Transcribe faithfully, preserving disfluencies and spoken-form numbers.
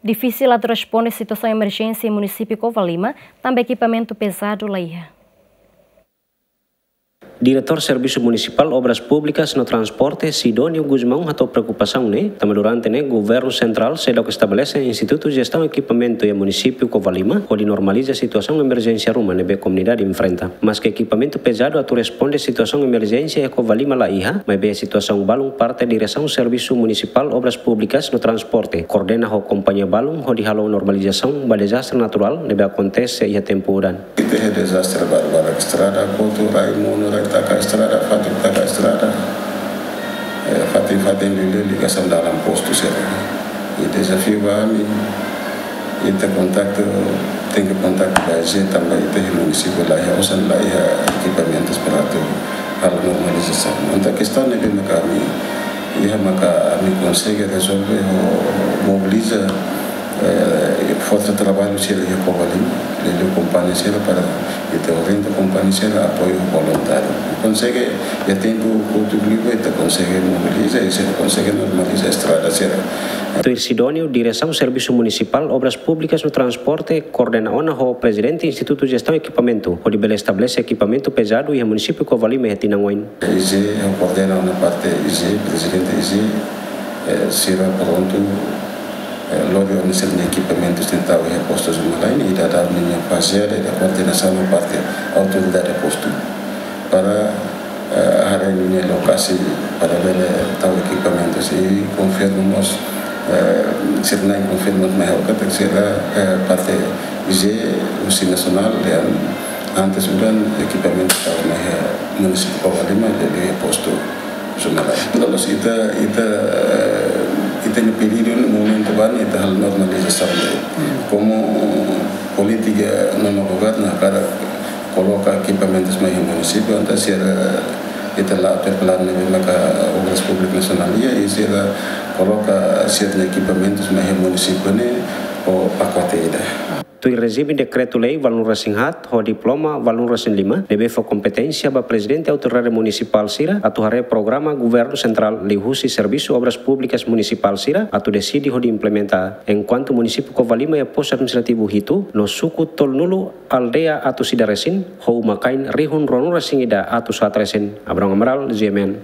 Difisil atu responde situasaun emerjénsia iha munisípiu Covalima, tanba ekipamentu pezadu la iha. Diretór Servisu Munisipál Obras Públikas no Transporte, Sidónio Gusmão, hato'o preokupasaun ne'e, tanba durante ne'e Governu Sentrál seidauk estabelese Institutu Jestaun Ekipamentu iha munisípiu Covalima, hodi normaliza situasaun emerjénsia ruma ne'ebé komunidade enfrenta. Maske ekipamentu pezadu atu responde situasaun emerjénsia iha Covalima la iha, maibé situasaun balun parte Diresaun Servisu Munisipál Obras Públikas no Transporte, koordena ho kompañia balun hodi halo normalizasaun ba dezastre naturál ne'ebé akontese iha tempu udan. Ita iha dezastre barak-barak, estrada kotu, rai monu, rai taka estrada, fatuk taka estrada. Eh, fatin-fatin liuliu ligasaun dalan postu sira. I dezafiu ba ami, ita kontaktu, tenke kontaktu ba I G E tanba ita iha munisípiu la iha osan, la iha ekipamentus para atu halo normalizasaun. Entaun kestaun ne'ebé maka ami iha maka ami konsege rezolve ho mobiliza, eh, forsa traballu sira iha Covalima, liuliu kompañia sira para ita orienta kompañia sira apoiu voluntáriu. Konsege iha tempu kotuk liu ita konsege mobiliza i sira konsege normaliza estrada sira. Tuir Sidónio, Diresaun Servisu Munisipál Obras Públikas no Transporte koordena ona ho Prezidente Institutu Jestaun Ekipamentu, hodi bele estabelese ekipamentu pezadu iha munisípiu Covalima iha tinan oin. I G E, ha'u koordena ona parte I G E, prezidente I G E, eh, sira prontu, eh, lori ona sira-nia ekipamentu sira tau iha postu Zumalai, i daudaun ninia faze ida koordenasaun ho parte autoridade postu. Para, eh, haree ninia lokasi para bele tau ekipamentu sira, i konfirma mós, eh, sira na'in konfirma mai ha'u katak sira, eh, parte I G E, husi nasionál, dehan antes udan ekipamentu tau mai iha munisípiu Covalima, dehan iha postu Zumalai. Loos ita, ita, eh, ita-nia pedidu ne'e momentu ba ne'e ita halo normalizasaun ne'e. Komu polítika nonu governu hakarak koloka ekipamentus mai iha munisípiu, entaun sira ita la atur planu ne'ebé maka Obras Públikas Nasionál iha, i sira koloka sira-nia ekipamentus mai iha munisípiu ne'e ho pakote ida. Tuir rejime dekretu-lei valun resin haat ho diploma valun resin lima, ne'ebé fó kompeténsia ba prezidente autoridade munisipál sira atu haree programa governu sentrál liuhusi servisu obras públikas munisipál sira atu deside hodi implementa. Enkuantu munisípiu Covalima iha postu administrativu hitu no suku tolunulu, aldeia atus ida resin, ho uma-kain rihun ruanulu resin ida atus haat resin. Abrão Amaral, G M N.